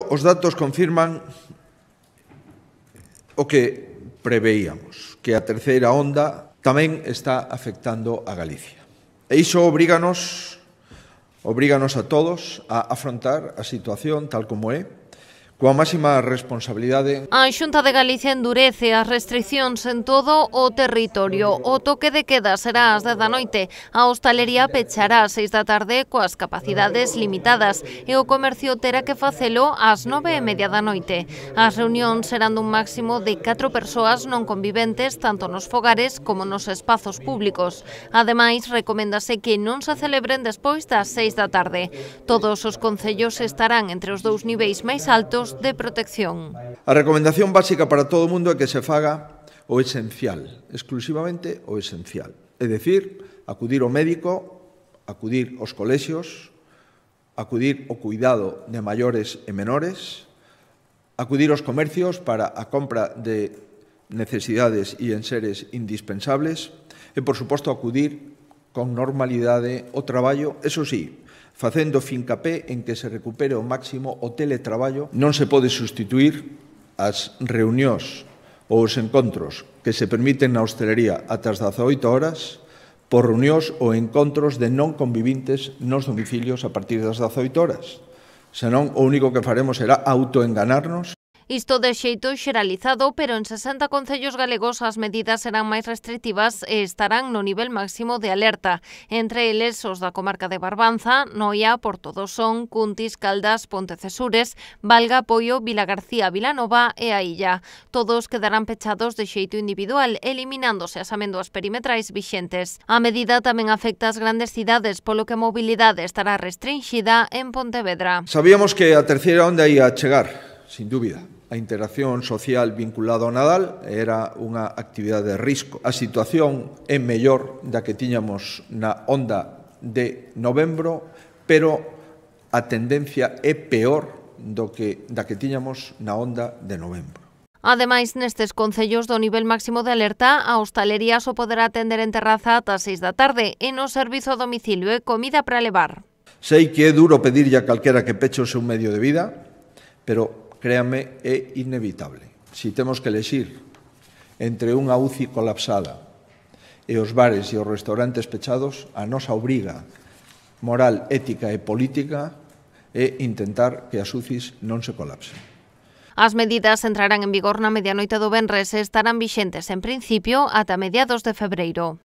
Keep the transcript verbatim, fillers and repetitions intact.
Os datos confirman o que preveíamos, que a terceira onda tamén está afectando a Galicia. E iso obríganos, obríganos a todos a afrontar a situación tal como é, coa máxima responsabilidade. A Xunta de Galicia endurece as restriccións en todo o territorio. O toque de queda será ás dez da noite, a hostalería pechará ás seis da tarde coas capacidades limitadas e o comercio terá que facelo ás nove e media da noite. As reunións serán dun máximo de catro persoas non conviventes tanto nos fogares como nos espazos públicos. Ademais, recoméndase que non se celebren despois das seis da tarde. Todos os concellos estarán entre os dous niveis máis altos de protección. A recomendación básica para todo o mundo é que se faga o esencial, exclusivamente o esencial. É dicir, acudir ao médico, acudir aos colexios, acudir ao cuidado de maiores e menores, acudir aos comercios para a compra de necesidades e enseres indispensables e, por suposto, acudir con normalidade ao traballo, eso sí, facendo fincapé en que se recupere ao máximo o teletraballo. Non se pode sustituir as reunións ou os encontros que se permiten na hostelería ata as dezaoito horas por reunións ou encontros de non convivintes nos domicilios a partir das dezaoito horas. Senón, o único que faremos será autoenganarnos. Isto de xeito xeralizado, pero en sesenta concellos galegos as medidas serán máis restrictivas e estarán no nivel máximo de alerta. Entre eles, os da comarca de Barbanza, Noia, Portodosón, Cuntis, Caldas, Pontecesures, Valga, Poio, Vilagarcía, Vilanova e a Illa. Todos quedarán pechados de xeito individual, eliminándose as amendoas perimetrais vixentes. A medida tamén afecta as grandes cidades, polo que a mobilidade estará restringida en Pontevedra. Sabíamos que a terceira onda ia chegar, sin dúbida. A interacción social vinculada ao Nadal era unha actividade de risco. A situación é mellor da que tiñamos na onda de novembro, pero a tendencia é peor do que da que tiñamos na onda de novembro. Ademais, nestes concellos do nivel máximo de alerta, a hostalería só poderá atender en terraza ata as seis da tarde e no servizo a domicilio e comida para levar. Sei que é duro pedirlle a calquera que peche o seu medio de vida, pero créanme, é inevitable. Si temos que elexir entre unha U C I colapsada e os bares e os restaurantes pechados, a nosa obriga moral, ética e política é intentar que as U C Is non se colapsen. As medidas entrarán en vigor na medianoite do venres e estarán vixentes, en principio, ata mediados de febreiro.